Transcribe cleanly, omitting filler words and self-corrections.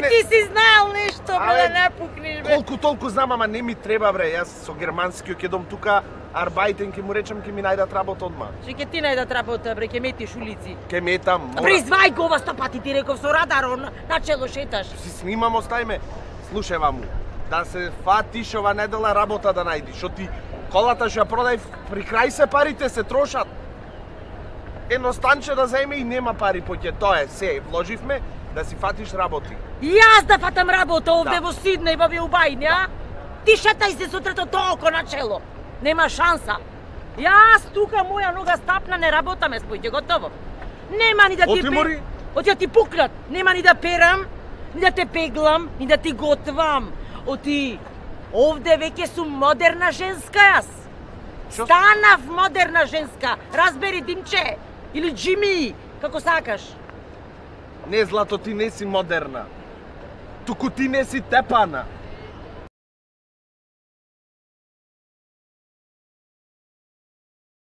ти си знаел нешто, бе, да не пукнеш, бе. Колку толку знам, ама не ми треба, бре. Јас со германскиот ќе дом тука, арбајтен ќе му речем, ќе ми најдат работа одма. Што ќе ти најдат работа, бре, ќе метиш улици. Ќе метам, мора. Призвај го ова 100 пати, ти реков, со радарон, начело шеташ. Си снимам, остајме. Слушај ваму, да се фатиш ова недела работа да најдиш, што ти колата што ја продај при крај се парите се трошат. Едно станче да земе и нема пари поќе тоа е, се вложивме да си фатиш работи. Јас да фатам работа овде Да. во Сиднеј, во Билбајн, ја? Ти шетај се сутрето толку начело. Нема шанса. Јас тука моја нога стапна, не работаме спојќе, готово. Нема ни да ти Отимори? Оти ти пукнат. Нема ни да перам, ни да те пеглам, ни да ти готвам. Оти овде веќе сум модерна женска јас. Шо? Станав модерна женска. Разбери, Димче или Джими, како сакаш. Не, Злато, ти не си модерна. Туку ти не си тепана.